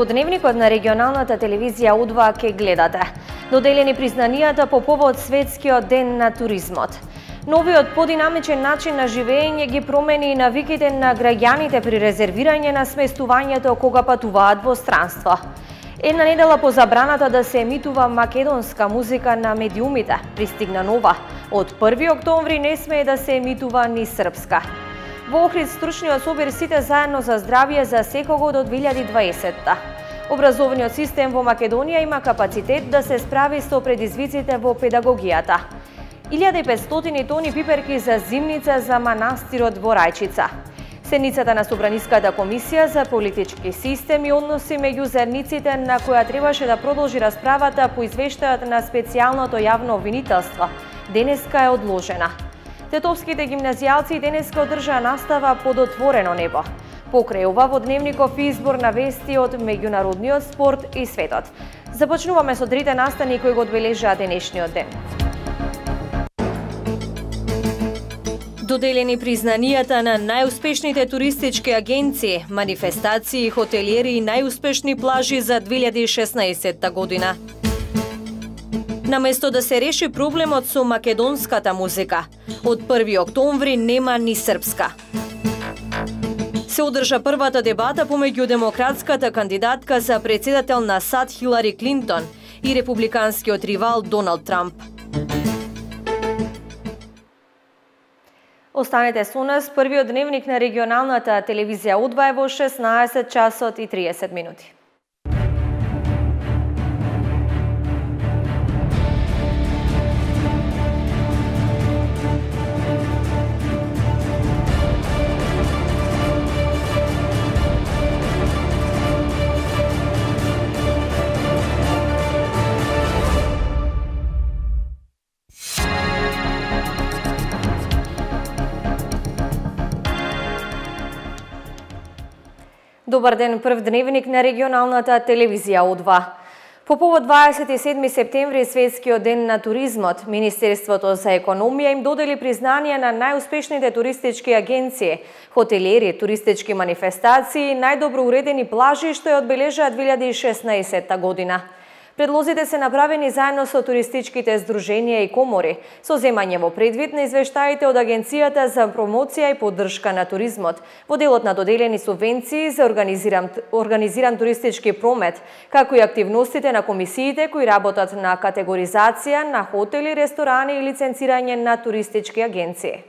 Во дневникот на регионалната телевизија У2 ке гледате доделени признанијата по повод Светскиот ден на туризмот. Новиот подинамичен начин на живење ги промени навиките на граѓаните при резервирање на сместувањето кога патуваат во странство. Една недела по забраната да се емитува македонска музика на медиумите, пристигна нова. Од 1 октомври не смее да се емитува ни српска. Во Охрид стручниот собир Сите заедно за здравје за секого до 2020-та. Образовниот систем во Македонија има капацитет да се справи со предизвиците во педагогијата. 1500 тони пиперки за зимница за манастирот во Рајчица. Седницата на Собраниската комисија за политички систем и односи меѓу заедниците на која требаше да продолжи расправата по извештајот на специјалното јавно обвинителство, денеска е одложена. Тетовските гимназијалци денеска одржаа настава под отворено небо. Покрај ова во дневников избор на вести од меѓународниот спорт и светот. Започнуваме со трите настани кои го одбележаа денешниот ден. Доделени признанијата на најуспешните туристички агенции, манифестации, хотелиери и најуспешни плажи за 2016 година. Наместо да се реши проблемот со македонската музика, од 1 октомври нема ни српска. Се одржа првата дебата помеѓу демократската кандидатка за председател на САД Хилари Клинтон и републиканскиот ривал Доналд Трамп. Останете со нас, првиот дневник на регионалната телевизија У2 е во 16 часот и 30 минути. Добар ден, прв дневник на регионалната телевизија У2. По повод 27 септември, Светскиот ден на туризмот, Министерството за економија им додели признание на најуспешните туристички агенции, хотелиери, туристички манифестации и најдобро уредени плажи што ја одбележаа 2016 година. Предлозите се направени заедно со туристичките здруженија и комори, со земање во предвид на извештаите од Агенцијата за промоција и поддршка на туризмот, во делот на доделени субвенции за организиран туристички промет, како и активностите на комисиите кои работат на категоризација на хотели, ресторани и лиценцирање на туристички агенции.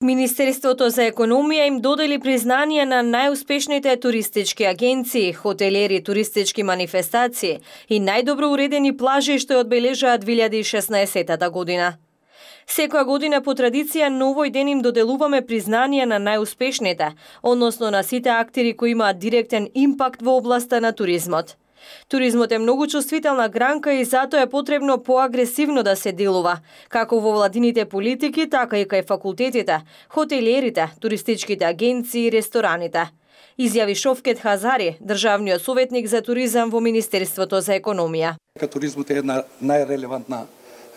Министерството за економија им додели признание на најуспешните туристички агенции, хотелиери, туристички манифестации и најдобро уредени плажи што ја одбележаа 2016 година. Секоја година по традиција на овој ден им доделуваме признание на најуспешните, односно на сите актери кои имаат директен импакт во областа на туризмот. Туризмот е многу чувствителна гранка и затоа е потребно поагресивно да се делува, како во владините политики, така и кај факултетите, хотелиерите, туристичките агенции и рестораните. Изјави Шовкет Хазари, државниот советник за туризам во Министерството за економија. Туризмот е една најрелевантна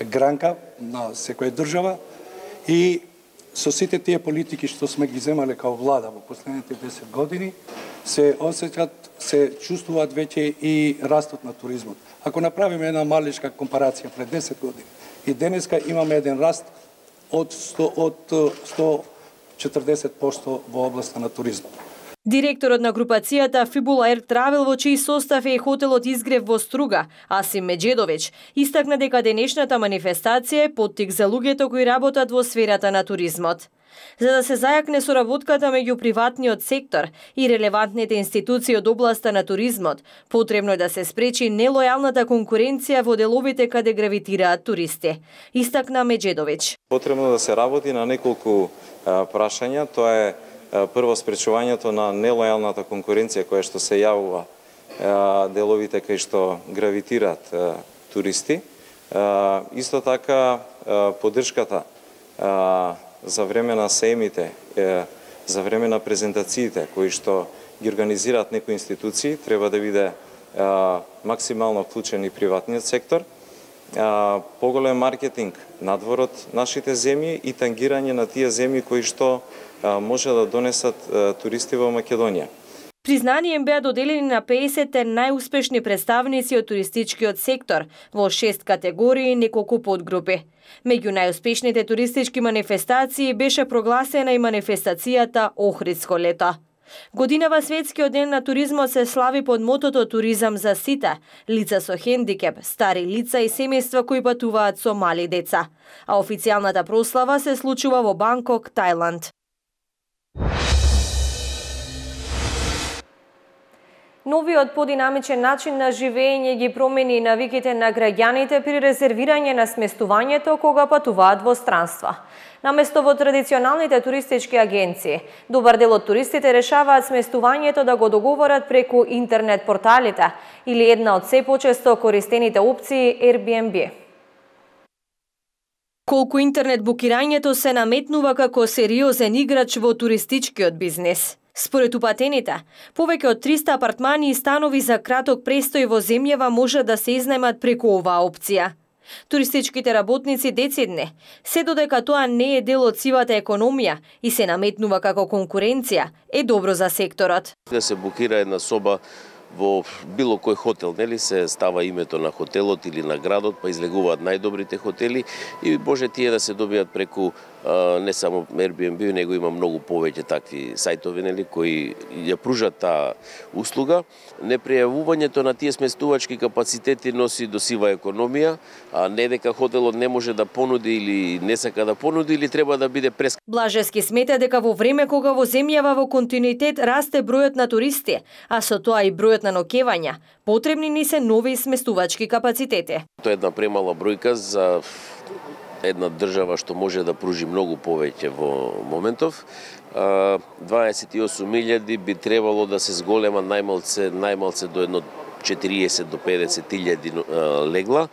гранка на секоја држава и со сите тие политики што сме ги земале као влада во последните 10 години, се осеќаат, се чувствуваат веќе и растот на туризмот. Ако направиме една малечка компарација пред 10 години и денеска имаме еден раст од 140% во областа на туризмот. Директорот на групацијата Фибула Ер Травел, во чиј состав е и хотелот Изгрев во Струга, Асим Меджедович, истакна дека денешната манифестација е поттик за луѓето кои работат во сферата на туризмот. За да се зајакне соработката меѓу приватниот сектор и релевантните институции од областа на туризмот, потребно е да се спречи нелојалната конкуренција во деловите каде гравитираат туристи, истакна Меджедович. Потребно да се работи на неколку прашања, тоа е прво спречувањето на нелојалната конкуренција која што се јавува деловите кај што гравитираат туристи. Исто така поддршката за време на сеимите, за време на презентациите кои што ги организираат некои институции, треба да биде максимално вклучен и приватниот сектор. Поголем маркетинг надвор од нашите земји и тангирање на тие земји кои што може да донесат туристи во Македонија. Признание им беа доделени на 50 најуспешни представници од туристичкиот сектор во 6 категории и неколку подгрупи. Меѓу најуспешните туристички манифестации беше прогласена и манифестацијата Охридско лето. Годинава Светскиот ден на туризмот се слави под мотото Туризам за сите, лица со хендикеп, стари лица и семејства кои патуваат со мали деца. А официјалната прослава се случува во Банкок, Тајланд. Новиот подинамичен начин на живење ги промени навиките на граѓаните при резервирање на сместувањето кога патуваат во странства. Наместо во традиционалните туристички агенции, добар дел од туристите решаваат сместувањето да го договорат преку интернет порталите или една од се почесто користените опции Airbnb. Колку интернет букирањето се наметнува како сериозен играч во туристичкиот бизнес. Според упатените, повеќе од 300 апартмани и станови за краток престој во земјава може да се изнајмат преку оваа опција. Туристичките работници децидне, се додека тоа не е дел од сивата економија и се наметнува како конкуренција, е добро за секторот. Да се букира една соба во било кој хотел, нели, се става името на хотелот или на градот, па излегуваат најдобрите хотели и може тие да се добијат преку не само Airbnb, него има многу повеќе такви сајтови, нели, кои ја пружат таа услуга. Непријавувањето на тие сместувачки капацитети носи до сива економија, а не дека хотелот не може да понуди или не сака да понуди или треба да биде прескапо. Блажевски смета дека во време кога во земјава во континуитет расте бројот на туристи, а со тоа и бројот на ноќевања, потребни ни се нови сместувачки капацитети. Тоа е една премала бројка за една држава што може да пружи многу повеќе во моментов. 28.000 би требало да се зголема најмалце до едно 40 до 50.000 легла.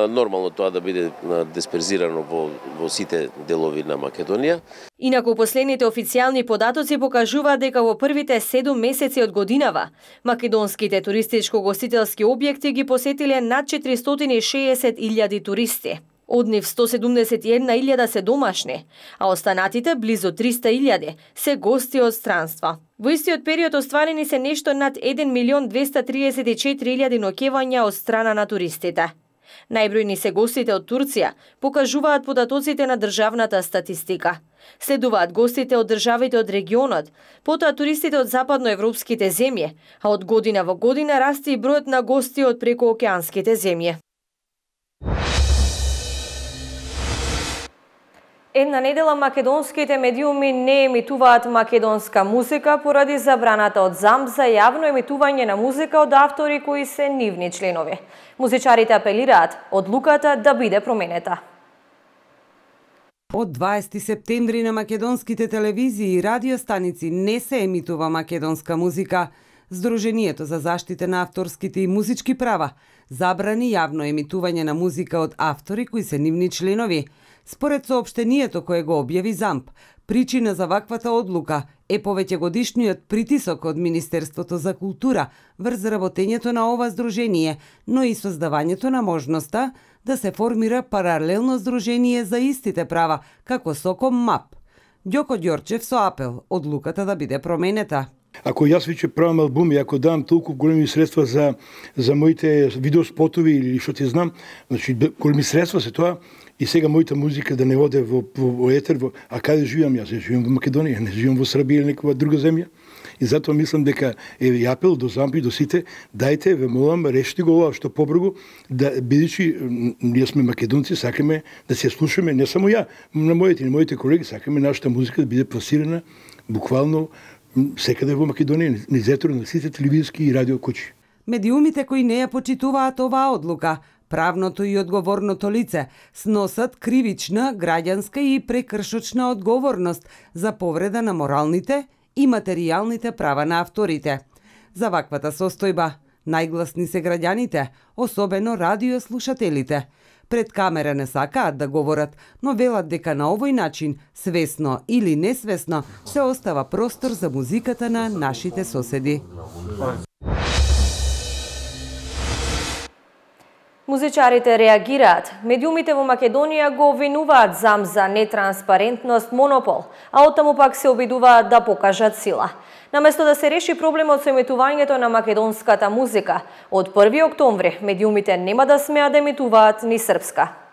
Нормално тоа да биде дисперзирано во сите делови на Македонија. Инаку последните официјални податоци покажуваат дека во првите 7 месеци од годинава македонските туристичко-гостителски објекти ги посетиле над 460.000 туристи. Од нив 171.000 се домашни, а останатите близу 300.000 се гости од странства. Во истиот период остварени се нешто над 1.234.000 ноќевања од страна на туристите. Најбројни се гостите од Турција, покажуваат податоците на државната статистика. Следуваат гостите од државите од регионот, потоа туристите од западноевропските земји, а од година во година расте и бројот на гости од прекоокеанските земји. Една недела македонските медиуми не емитуваат македонска музика поради забраната од ЗАМП за јавно емитување на музика од автори кои се нивни членови. Музичарите апелираат одлуката да биде променета. Од 20 септември на македонските телевизии и радиостаници не се емитува македонска музика. Сдруженијето за заштита на авторските и музички права забрани јавно емитување на музика од автори кои се нивни членови. Според соопштението кое го објави ЗАМП, причина за ваквата одлука е повеќегодишниот притисок од Министерството за култура врз работењето на ова здружение, но и создавањето на можноста да се формира паралелно здружение за истите права, како СОКОМ МАП. Ѓоко Ѓорчев со апел одлуката да биде променета. Ако јас веќе правам албуми, ако дам толку големи средства за моите видеоспотови или што ти знам, значи големи средства се тоа, и сега мојата музика да не воде во етер, а каде живеам јас? Живеам во Македонија, не живеам во Србија или некоја друга земја. И затоа мислам дека е апел до ЗАМП и до сите, дајте, ве молам, решите го ова што побргу, да бидејќи ние сме македонци, сакаме да се слушаме, не само ја, на моите колеги, сакаме нашата музика да биде пласирана буквално секаде во Македонија, низ етер на сите телевизиски и радио куќи. Медиумите кои не ја почитуваат оваа одлука, правното и одговорното лице сносат кривична, граѓанска и прекршочна одговорност за повреда на моралните и материјалните права на авторите. За ваквата состојба најгласни се граѓаните, особено радиослушателите. Пред камера не сакаат да говорат, но велат дека на овој начин, свесно или несвесно, се остава простор за музиката на нашите соседи. Музичарите реагираат. Медиумите во Македонија го обвинуваат ЗАМП за нетранспарентност, монопол, а оттаму пак се обидуваат да покажат сила. Наместо да се реши проблемот со емитувањето на македонската музика, од 1 октомври медиумите нема да смеат да емитуваат ни српска.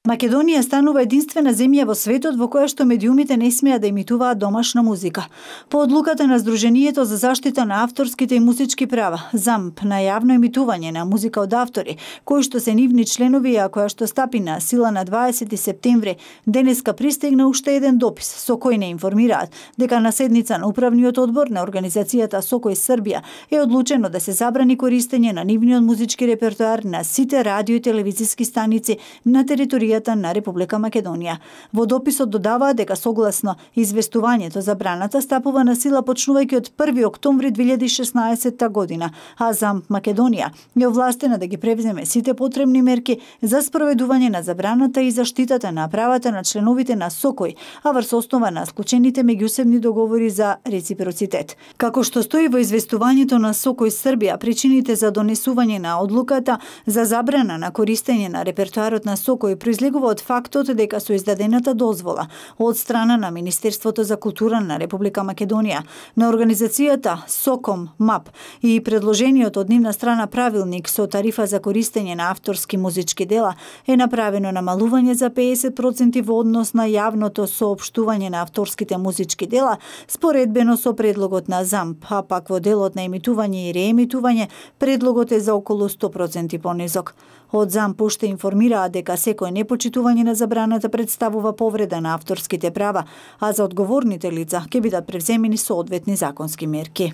Македонија станува единствена земја во светот во која што медиумите не смеат да емитуваат домашна музика. По одлуката на Сдруженијето за заштита на авторските и музички права, ЗАМП, на јавно емитување на музика од автори, кои што се нивни членови, а која што стапи на сила на 20 септември, денеска пристигна уште еден допис со кој не информираат дека на седница на управниот одбор на организацијата Сокој Србија е одлучено да се забрани користење на нивниот музички репертоар на сите радио и телевизиски станици на територија на Република Македонија. Во дописот додаваат дека согласно известувањето забраната стапува на сила почнувајќи од 1 октомври 2016 година, а ЗАМП Македонија е овластена да ги превземе сите потребни мерки за спроведување на забраната и заштитата на правата на членовите на Сокој, а врз основа на склучените меѓусебни договори за реципроцитет. Како што стои во известувањето на Сокој Србија, причините за донесување на одлуката за забрана на користење на репертоарот на Сокој произлегува од фактот дека со издадената дозвола од страна на Министерството за култура на Република Македонија, на организацијата Соком МАП и предложениот од нивна страна правилник со тарифа за користење на авторски музички дела е направено намалување за 50% во однос на јавното соопштување на авторските музички дела, споредбено со предлогот на ЗАМП, а пак во делот на емитување и реемитување предлогот е за околу 100% понизок. Од ЗАМП уште информираат дека секој непочитување на забраната представува повреда на авторските права, а за одговорните лица ќе бидат превземени соодветни законски мерки.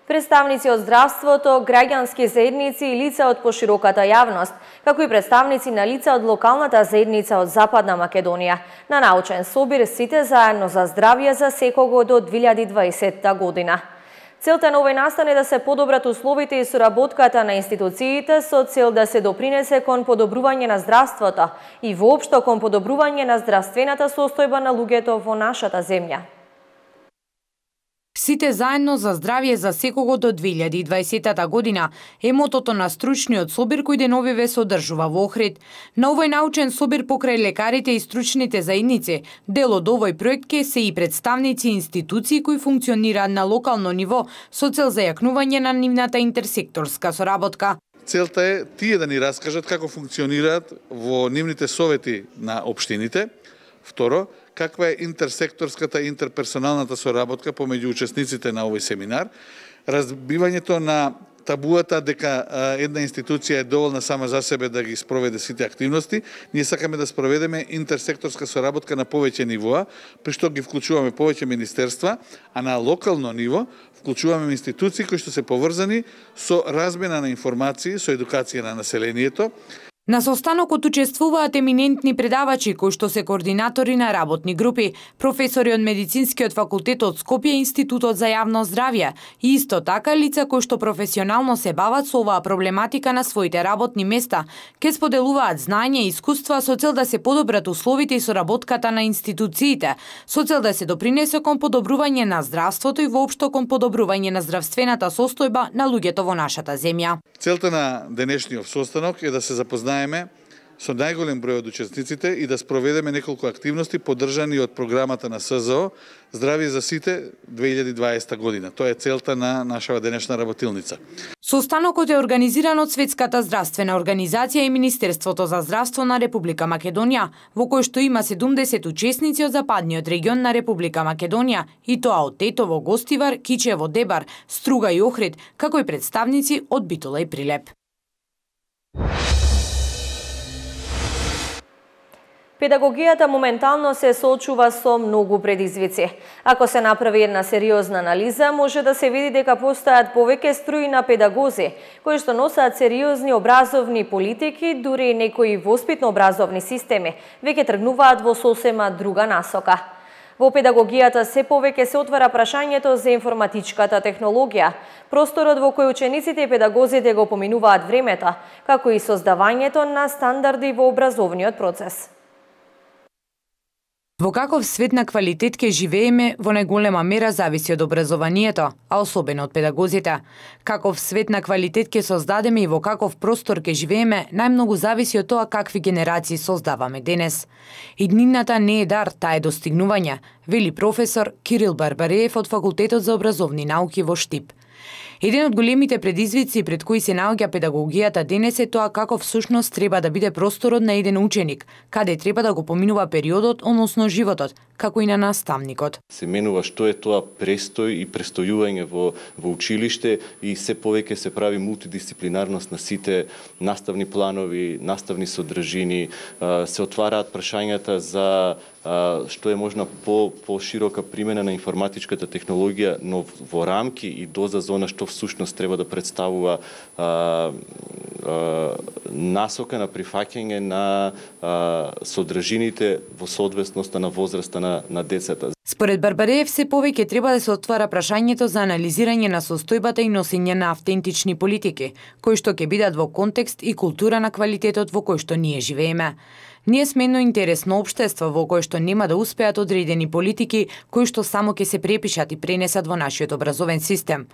Представници од здравството, граѓански заедници и лица од пошироката јавност, како и представници на лица од локалната заедница од Западна Македонија, на научен собир Сите заедно за здравје за секого до 2020 година. Целта на овој настан е да се подобрат условите и соработката на институциите со цел да се допринесе кон подобрување на здравството и воопшто кон подобрување на здравствената состојба на луѓето во нашата земја. Сите заедно за здравје за секого до 2020 година е мотото на стручниот собир кој деновиве се одржува во Охрид. На овој научен собир покрај лекарите и стручните заедници, дел од овој проект ке се и представници институции кои функционираат на локално ниво со цел зајакнување на нивната интерсекторска соработка. Целта е тие да ни раскажат како функционираат во нивните совети на општините. Второ, каква е интерсекторската и интерперсоналната соработка помеѓу учесниците на овој семинар, разбивањето на табуата дека една институција е доволна сама за себе да ги спроведе сите активности. Ние сакаме да спроведеме интерсекторска соработка на повеќе нивоа, при што ги вклучуваме повеќе министерства, а на локално ниво вклучуваме институции кои што се поврзани со размена на информации, со едукација на населението. На состанокот учествуваат еминентни предавачи кои што се координатори на работни групи, професори од Медицинскиот факултет од Скопје и Институтот за јавно здравје и исто така лица кои што професионално се бават со оваа проблематика на своите работни места, ке споделуваат знаење и искуства со цел да се подобрат условите и соработката на институциите, со цел да се допринесе кон подобрување на здравството и воопшто кон подобрување на здравствената состојба на луѓето во нашата земја. Целта на денешниот состанок е да се запознаеме со најголем број од учесниците и да спроведеме неколку активности поддржани од програмата на СЗО Здравје за сите 2020 година. Тоа е целта на нашава денешна работилница. Состанокот е организиран од Светската здравствена организација и Министерството за здравство на Република Македонија, во кој што има 70 учесници од западниот регион на Република Македонија, и тоа од Тетово, Гостивар, Кичево, Дебар, Струга и Охрид, како и представници од Битола и Прилеп. Педагогијата моментално се соочува со многу предизвици. Ако се направи една сериозна анализа, може да се види дека постојат повеќе струи на педагози, кои што носат сериозни образовни политики, дури некои воспитно-образовни системи, веќе тргнуваат во сосема друга насока. Во педагогијата се повеќе се отвара прашањето за информатичката технологија, просторот во кој учениците и педагозите го поминуваат времето, како и создавањето на стандарди во образовниот процес. Во каков свет на квалитет ке живееме во најголема мера зависи од образованието, а особено од педагозите. Каков свет на квалитет ке создадеме и во каков простор ке живееме, најмногу зависи од тоа какви генерации создаваме денес. Иднината не е дар, таа е достигнување, вели професор Кирил Барбареев од Факултетот за образовни науки во Штип. Еден од големите предизвици пред кои се наоѓа педагогијата денес е тоа како всушност треба да биде просторот на еден ученик, каде треба да го поминува периодот, односно животот, како и на наставникот. Се менува што е тоа престој и престојување во училиште и се повеќе се прави мултидисциплинарност на сите наставни планови, наставни содржини, се отвараат прашањата за што е можна по-широка примена на информатичката технологија, но во рамки и доза за она што всушност треба да представува насока на прифаќање на содржините во соодветност на возраста на децата. Според Барбареев, се повеќе треба да се отвара прашањето за анализирање на состојбата и носење на автентични политики, кои што ќе бидат во контекст и култура на квалитетот во кој што ние живееме. Ние сме едно интересно општество во кое што нема да успеат одредени политики кои што само ќе се препишат и пренесат во нашиот образовен систем.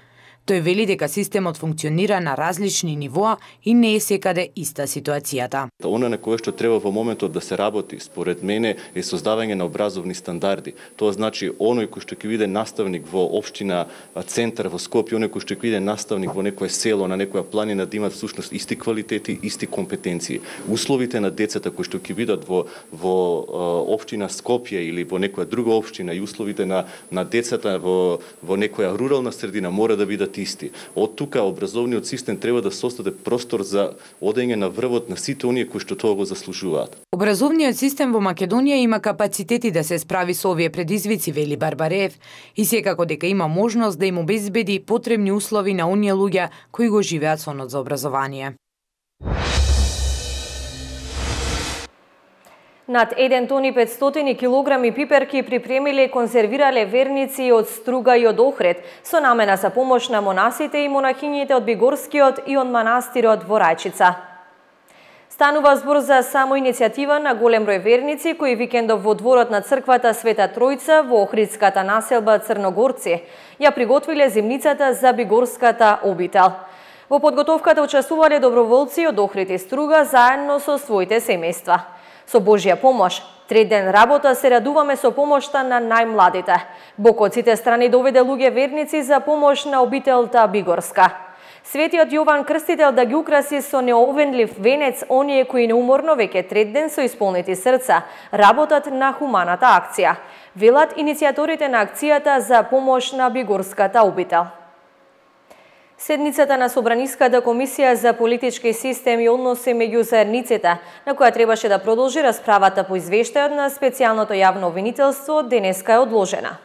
Тој вели дека системот функционира на различни нивоа и не е секаде иста ситуацијата. Она на кое што треба во моментот да се работи, според мене, е создавање на образовни стандарди. Тоа значи оној кој што ќе биде наставник во општина центар во Скопје, оној кој што ќе биде наставник во некое село, на некоја планина, да имат всушност исти квалитети, исти компетенции. Условите на децата кои што ќе бидат во општина Скопје или во некоја друга општина и условите на децата во некоја рурална средина мора да бидат исти. Од тука образовниот систем треба да создаде простор за одење на врвот на сите оние кои што тоа го заслужуваат. Образовниот систем во Македонија има капацитети да се справи со овие предизвици, вели Барбареев, и секако дека има можност да им обезбеди потребни услови на оние луѓе кои го живеат сонот за образование. Над 1 тон и 500 килограми пиперки припремиле и конзервирале верници од Струга и од Охрид, со намена за помош на монасите и монахињите од Бигорскиот и од манастирот во Рајчица. Станува збор за само иницијатива на голем број верници кои викендов во дворот на црквата Света Тројца во Охридската населба Црногорци ја приготвиле зимницата за Бигорската обител. Во подготовката учествувале доброволци од Охрид и Струга заедно со своите семејства. Со Божја помош, 3 ден работа се радуваме со помошта на најмладите. Бог од сите страни доведе луѓе верници за помош на обителта Бигорска. Светиот Јован Крстител да ги украси со неовенлив венец оние кои неуморно веќе 3 ден со исполнети срца работат на хуманата акција, велат иницијаторите на акцијата за помош на Бигорската обител. Седницата на Собраниската комисија за политички систем и односи меѓу заедниците, на која требаше да продолжи расправата по извештајот на специјалното јавно обвинителство, денеска е одложена.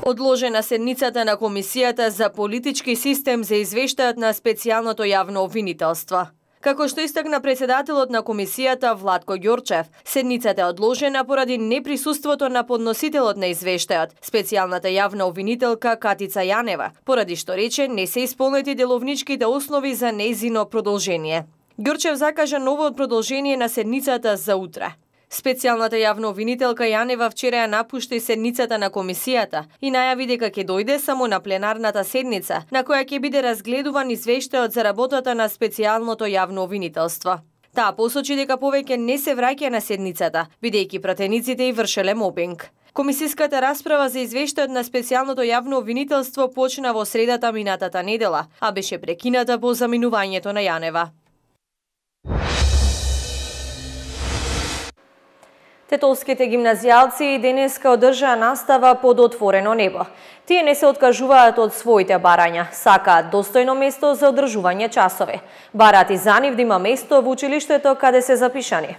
Одложена седницата на комисијата за политички систем за извештајот на специјалното јавно обвинителство. Како што истакна председателот на комисијата Владко Ѓорчев, седницата е одложена поради неприсуството на подносителот на извештајот, специјалната јавна обвинителка Катица Јанева, поради што рече не се исполнети деловничките основи за нејзино продолжение. Ѓорчев закажа ново продолжение на седницата за утре. Специјалната јавна обвинителка Јанева вчера ја напушти седницата на комисијата и најави дека ќе дојде само на пленарната седница, на која ќе биде разгледуван извештајот за работата на специјалното јавно обвинителство. Таа посочи дека повеќе не се враќа на седницата, бидејќи пратениците и вршеле мобинг. Комисиската расправа за извештајот на специјалното јавно обвинителство почна во средата минатата недела, а беше прекината по заминувањето на Јанева. Тетовските гимназијалци денеска одржаа настава под отворено небо. Тие не се откажуваат од своите барања, сакаат достојно место за одржување часови. Бараат и за нив да има место во училиштето каде се запишани.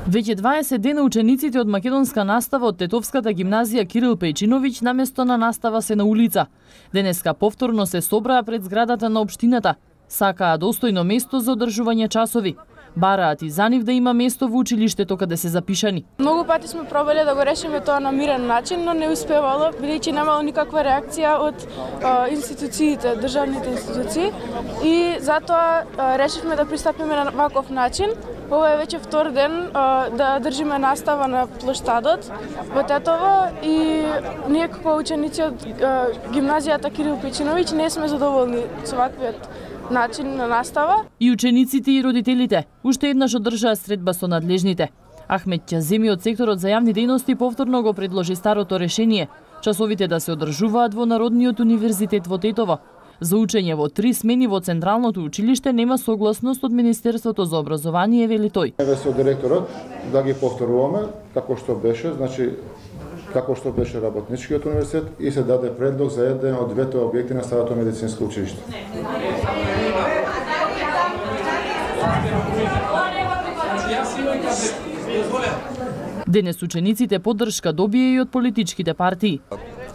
Веќе 20 дена учениците од македонска настава од Тетовската гимназија Кирил Пејчиновиќ наместо на настава се на улица. Денеска повторно се собраа пред зградата на општината. Сакаат достојно место за одржување часови. Бараат и за нив да има место во училиштето каде се запишани. Многу пати сме пробале да го решиме тоа на мирен начин, но не успевало, бидејќи немало никаква реакција од институциите, државните институции, и затоа решивме да пристапиме на ваков начин, Ова е веќе втор ден да држиме настава на плоштадот во Тетово и ние како ученици од гимназијата Кирил Печиновиќ не сме задоволни со ваквиот начин на настава. И учениците и родителите уште еднаш одржаа средба со надлежните. Ахмет Ќаземи од секторот за јавни дејности повторно го предложи старото решение часовите да се одржуваат во Народниот универзитет во Тетово. За учење во 3 смени во Централното училиште нема согласност од Министерството за образование, вели тој. Еве со директорот да ги повторуваме како што беше, значи како што беше работничкиот универзитет и се даде предлог за еден од двете објекти на Старото медицинско училиште. Денес учениците поддршка добија и од политичките партии.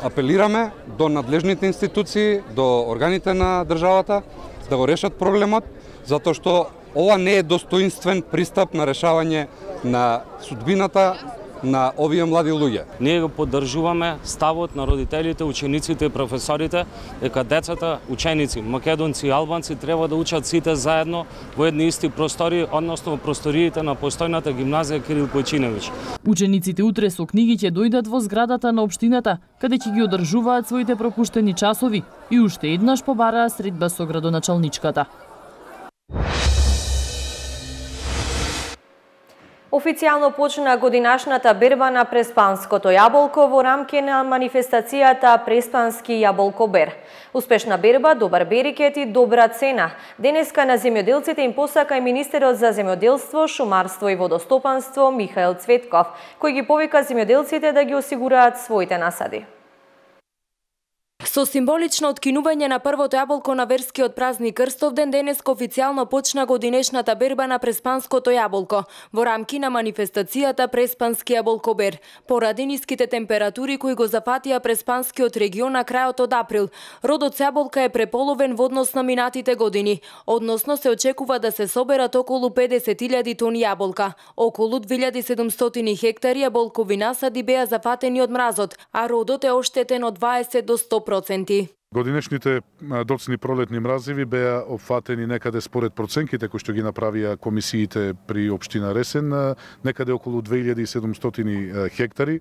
Апелираме до надлежните институции, до органите на државата да го решат проблемот, затоа што ова не е достоинствен пристап на решавање на судбината на овие млади луѓе. Ние го поддржуваме ставот на родителите, учениците и професорите дека децата, ученици, македонци и албанци треба да учат сите заедно во едни исти простори, односно во просториите на постојната гимназија Кирил Печиновиќ. Учениците утре со книги ќе дојдат во зградата на општината, каде ќе ги одржуваат своите пропуштени часови и уште еднаш побараа средба со градоначалничката. Официјално почна годинашната берба на преспанското јаболко во рамки на манифестацијата Преспански јаболкобер. Успешна берба, добар берикет и добра цена. Денеска на земјоделците им посака и министерот за земјоделство, шумарство и водостопанство Михаил Цветков, кој ги повика земјоделците да ги осигураат своите насади. Со символично откинување на првото јаболко на верскиот празник Крстовден, денеска официјално почна годинешната берба на преспанското јаболко во рамки на манифестацијата Преспански јаболкобер. Поради ниските температури кои го зафатија преспанскиот регион на крајот од април, родот јаболка е преполовен во однос на минатите години. Односно се очекува да се соберат околу 50.000 тони јаболка. Околу 2700 хектари јаболкови насади беа зафатени од мразот, а родот е оштетен од 20 до 100%. Годинешните доцни пролетни мразиви беа опфатени некаде според проценките кои што ги направија комисиите при општина Ресен, некаде околу 2700 хектари.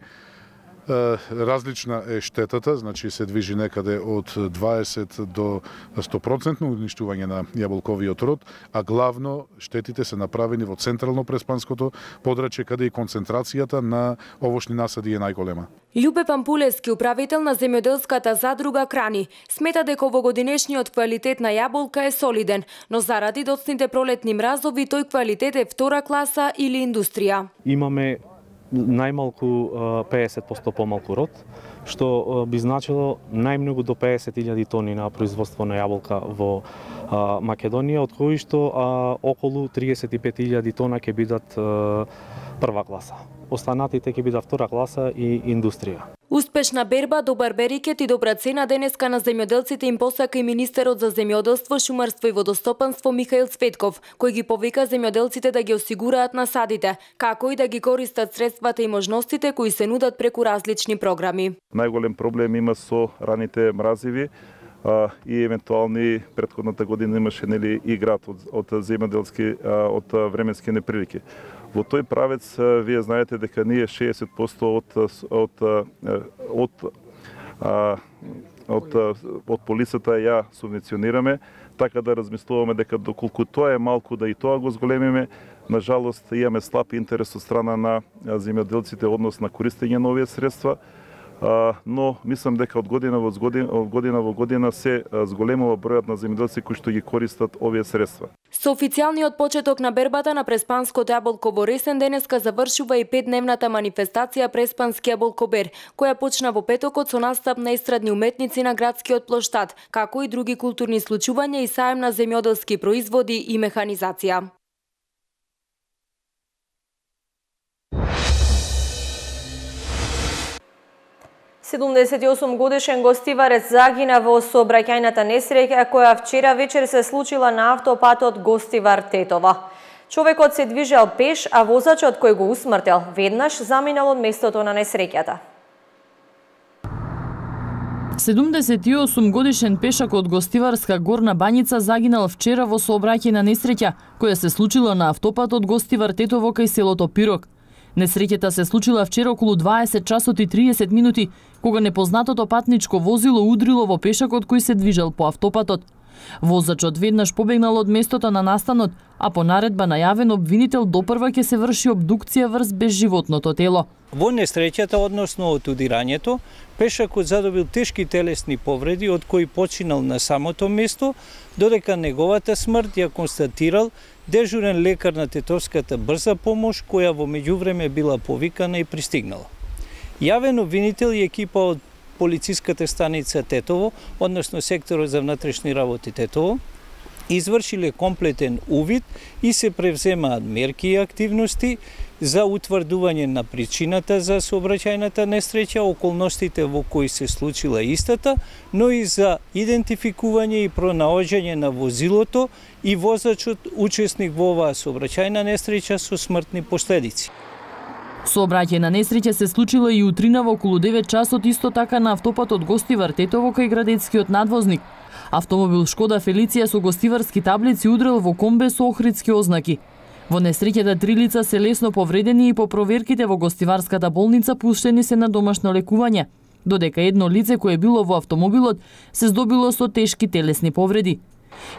Различна е штетата, значи се движи некаде од 20 до 100% уништување на јаболковиот род, а главно штетите се направени во централно преспанското подрачје, каде и концентрацијата на овошни насади е најголема. Љубе Пампулевски, управител на земјоделската задруга Крани, смета дека овогодинешниот квалитет на јаболка е солиден, но заради доцните пролетни мразови тој квалитет е втора класа или индустрија. Имаме најмалку 50% помалку род, што би значило најмногу до 50.000 тони на производство на јаболка во Македонија, од кои што околу 35.000 тона ќе бидат прва класа. Останатите ќе бидат втора класа и индустрија. Успешна берба, добар берикет и добра цена денеска на земјоделците им посака и министерот за земјоделство, шумарство и водостопанство Михаил Цветков, кој ги повика земјоделците да ги осигураат насадите, како и да ги користат средствата и можностите кои се нудат преку различни програми. Најголем проблем има со раните мразиви и евентуални претходната година имаше и град од земјоделски од временски неприлики. Во тој правец вие знаете дека ние 60% од полицата ја субвенционираме, така да размислуваме дека доколку тоа е малку да и тоа го зголемиме. На жалост имаме слаб интерес од страна на земјоделците однос на користење на овие средства. Но мислам дека од година во година се зголемува бројот на земјоделци кои што ги користат овие средства. Со официјалниот почеток на бербата на преспанското јаболко во Ресен денеска завршува и 5-дневната манифестација Преспански јаболкобер, која почна во петокот со настап на естрадни уметници на градскиот плоштад, како и други културни случувања и саем на земјоделски производи и механизација. Годишен гостиварец загина во сообраќајната несреќа која вчера вечер се случила на автопатот Гостивар-Тетово. Човекот се движел пеш, а возачот кој го усмртил веднаш заминал од местото на несреќата. 78 годишен пешак од Гостиварска Горна Баница загинал вчера во сообраќајна несреќа која се случила на автопатот Гостивар Тетово кај селото Пирок. Несреќата се случила вчера околу 20 часот и 30 минути, кога непознатото патничко возило удрило во пешакот кој се движел по автопатот. Возачот веднаш побегнал од местото на настанот, а по наредба на јавен обвинител допрва ќе се врши обдукција врз безживотното тело. Во несреќата, односно од удирањето, пешакот задобил тешки телесни повреди, од кои починал на самото место, додека неговата смрт ја констатирал дежурен лекар на Тетовската брза помош, која во меѓувреме била повикана и пристигнала. Јавен обвинител и екипа од полициската станица Тетово, односно секторот за внатрешни работи Тетово, извршиле комплетен увид и се превземаат мерки и активности за утврдување на причината за сообраќајната несреќа, околностите во кои се случила истата, но и за идентификување и пронаоѓање на возилото и возачот учесник во оваа сообраќајна несреќа со смртни последици. Сообраќајна несреќа се случила и утринава околу 9 часот исто така на автопатот Гостивар Тетово кај градецкиот надвозник. Автомобил Шкода Фелиција со гостиварски таблици удрил во комбе со охридски ознаки. Во несреќата 3 лица се лесно повредени и по проверките во гостиварската болница пуштени се на домашно лекување, додека едно лице кое било во автомобилот се здобило со тешки телесни повреди.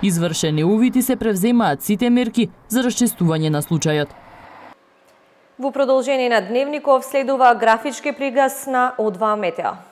Извршени увити се превземаат сите мерки за расчистување на случајот. Во продолжение на Дневников следува графички приказ на О2 Метео.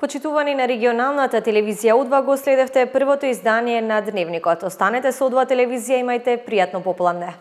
Почитувани на регионалната телевизија О2 го следевте првото издание на Дневникот. Останете со О2 телевизија, имајте пријатно попладне.